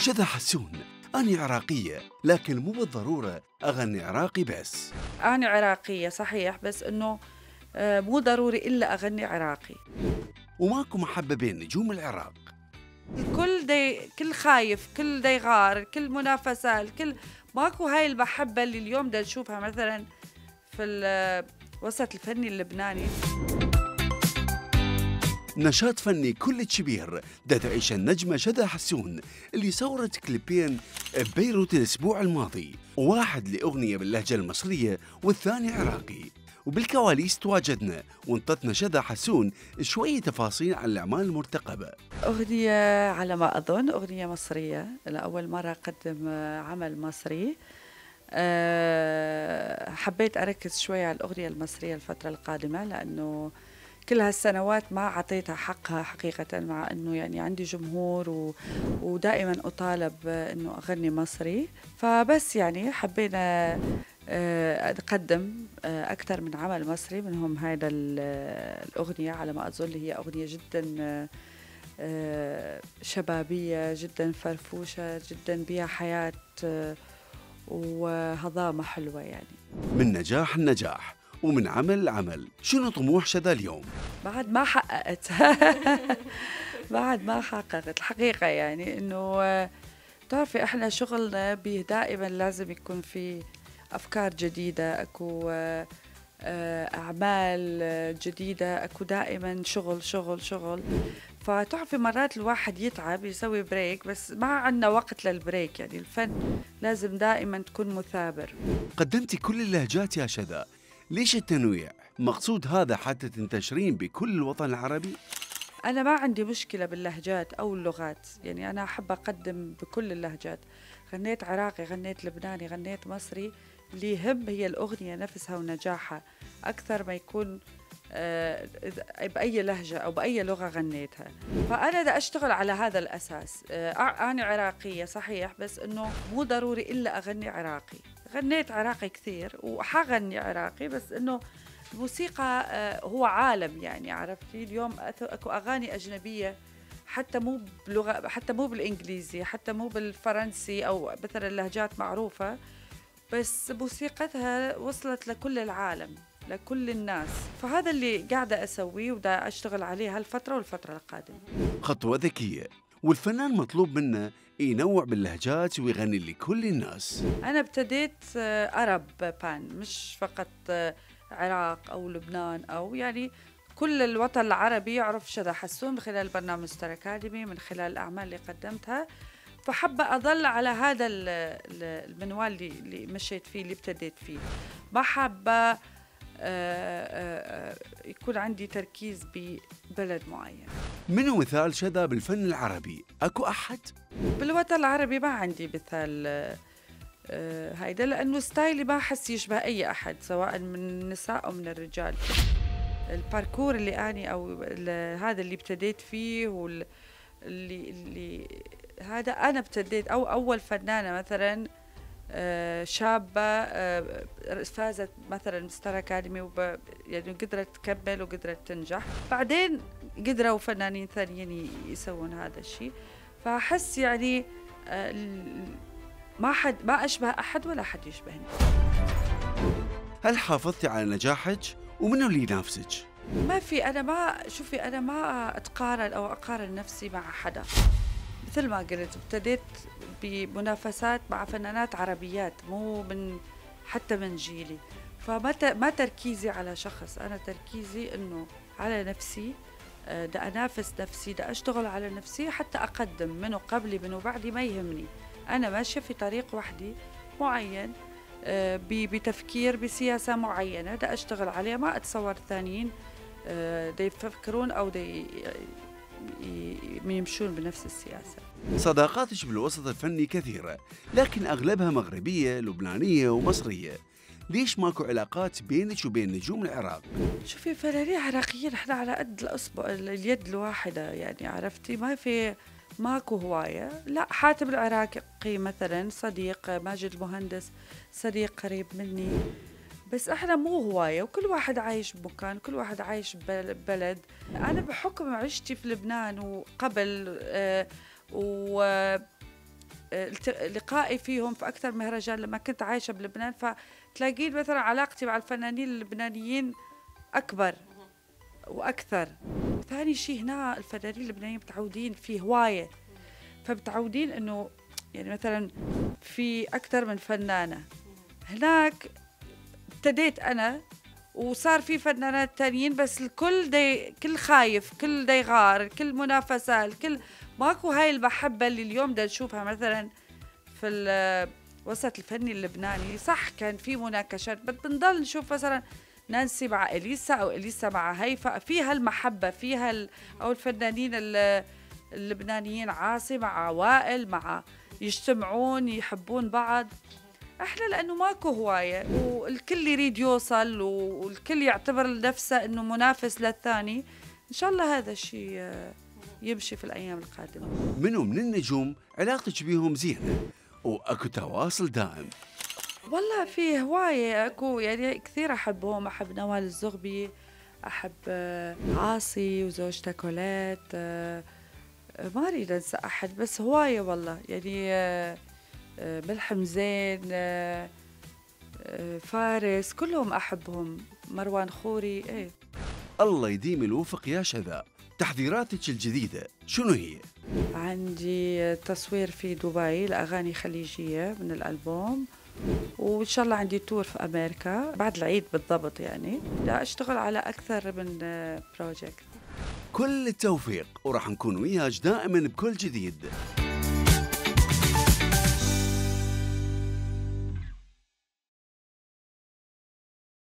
شذى حسون: أنا عراقية لكن مو بالضرورة أغني عراقي بس. أنا عراقية صحيح، بس إنه مو ضروري إلا أغني عراقي. وماكو محبة بين نجوم العراق. كل خايف، كل يغار، كل منافسة، ماكو هاي المحبة اللي اليوم دا نشوفها مثلا في الوسط الفني اللبناني. نشاط فني كل كبير دا تعيش النجمة شذى حسون اللي صورت كليبين ببيروت الأسبوع الماضي، واحد لأغنية باللهجة المصرية والثاني عراقي. وبالكواليس تواجدنا وانطتنا شذى حسون شوية تفاصيل عن الأعمال المرتقبة. أغنية على ما أظن أغنية مصرية، لأول مرة أقدم عمل مصري. حبيت أركز شوية على الأغنية المصرية الفترة القادمة، لأنه كل هالسنوات ما أعطيتها حقها حقيقة، مع أنه يعني عندي جمهور ودائما أطالب أنه أغني مصري. فبس يعني حبينا أقدم أكثر من عمل مصري، منهم هذا الأغنية على ما أظن، هي أغنية جدا شبابية، جدا فرفوشة، جدا بها حياة وهضامة حلوة يعني. من نجاح لنجاح ومن عمل لعمل، شنو طموح شذى اليوم؟ بعد ما حققت بعد ما حققت الحقيقة، يعني إنه تعرفي إحنا شغلنا به دائما لازم يكون في أفكار جديدة، أكو أعمال جديدة، أكو دائما شغل شغل شغل. فتعرفي مرات الواحد يتعب يسوي بريك، بس ما عندنا وقت للبريك. يعني الفن لازم دائما تكون مثابر. قدمتي كل اللهجات يا شذى، ليش التنويع؟ مقصود هذا حتى تنتشرين بكل الوطن العربي؟ أنا ما عندي مشكلة باللهجات أو اللغات، يعني أنا أحب أقدم بكل اللهجات. غنيت عراقي، غنيت لبناني، غنيت مصري. اللي يهم هي الأغنية نفسها ونجاحها، أكثر ما يكون بأي لهجة أو بأي لغة غنيتها. فأنا دا أشتغل على هذا الأساس. أنا عراقية صحيح، بس إنه مو ضروري إلا أغني عراقي. غنيت عراقي كثير وحغني عراقي، بس إنه الموسيقى هو عالم، يعني عرفتي. اليوم أكو أغاني أجنبية حتى مو بلغة، حتى مو بالإنجليزي، حتى مو بالفرنسي، أو مثلا لهجات معروفة، بس موسيقتها وصلت لكل العالم، لكل الناس. فهذا اللي قاعدة أسويه ودا أشتغل عليه هالفترة والفترة القادمة. خطوة ذكية، والفنان مطلوب منه ينوع باللهجات ويغني لكل الناس. أنا ابتديت أرب بان، مش فقط عراق أو لبنان، أو يعني كل الوطن العربي يعرف شذى حسون من خلال برنامج ستار أكاديمي، من خلال الأعمال اللي قدمتها. فحابة أظل على هذا المنوال اللي مشيت فيه، اللي ابتديت فيه. ما حابة يكون عندي تركيز ببلد معين. منو مثال شذى بالفن العربي؟ أكو أحد؟ بالوطن العربي ما عندي مثال هيدا، لأنه ستايلي ما أحس يشبه أي أحد، سواء من النساء أو من الرجال. الباركور اللي أنا أو هذا اللي ابتديت فيه، اللي هذا أنا ابتديت، أو أول فنانة مثلا شابة فازت مثلا ستار أكاديمي، يعني قدرت تكمل وقدرت تنجح. بعدين قدروا فنانين ثانيين يسوون هذا الشيء. فأحس يعني ما أشبه أحد ولا أحد يشبهني. هل حافظتي على نجاحك؟ ومنو اللي ينافسك؟ ما في، أنا ما أتقارن أو أقارن نفسي مع حدا. مثل ما قلت ابتديت بمنافسات مع فنانات عربيات، مو حتى من جيلي. فما تركيزي على شخص، أنا تركيزي إنه على نفسي. دا أنافس نفسي، دا أشتغل على نفسي حتى أقدم. منو قبلي منو بعدي ما يهمني، أنا ماشية في طريق وحدي معين، بتفكير بسياسة معينة دا أشتغل عليها. ما أتصور ثانيين دا يفكرون أو دا يمشون بنفس السياسة. صداقاتك بالوسط الفني كثيرة، لكن أغلبها مغربية، لبنانية ومصرية. ليش ماكو علاقات بينك وبين نجوم العراق؟ شوفي، فنانين عراقيين احنا على قد الأصبع، اليد الواحدة، يعني عرفتي. ماكو هواية. لا، حاتم العراقي مثلا صديق، ماجد المهندس صديق قريب مني، بس احنا مو هواية. وكل واحد عايش بمكان، كل واحد عايش ببلد. أنا بحكم عشتي في لبنان وقبل لقائي فيهم في أكثر مهرجان لما كنت عايشة بلبنان، فتلاقين مثلا علاقتي مع الفنانين اللبنانيين أكبر وأكثر. ثاني شيء هنا الفنانين اللبنانيين متعودين في هواية، فمتعودين إنه يعني مثلا في أكثر من فنانة. هناك ابتديت أنا وصار في فنانات تانيين، بس الكل كل خايف، كل يغار، كل منافسة، الكل ماكو هاي المحبة اللي اليوم دا نشوفها مثلا في الوسط الفني اللبناني. صح كان في مناقشات، بس بنضل نشوف مثلا نانسي مع إليسا أو إليسا مع هيفا، فيها المحبة، فيها أو الفنانين اللبنانيين عاصي مع وائل، مع يجتمعون يحبون بعض. احنا لانه ماكو هوايه والكل يريد يوصل والكل يعتبر نفسه انه منافس للثاني، ان شاء الله هذا الشيء يمشي في الايام القادمه. منو من النجوم علاقتك بيهم زينه واكو تواصل دائم؟ والله في هوايه اكو يعني كثير احبهم. احب نوال الزغبي، احب عاصي وزوجته كولات، ما اريد انسى احد، بس هوايه والله يعني ملحم زين، فارس، كلهم أحبهم، مروان خوري. ايه الله يديم الوفق يا شذا. تحضيراتك الجديدة شنو هي؟ عندي تصوير في دبي لأغاني خليجية من الألبوم، وإن شاء الله عندي تور في أمريكا بعد العيد بالضبط. يعني لا أشتغل على أكثر من بروجكت. كل التوفيق، وراح نكون وياك دائما بكل جديد.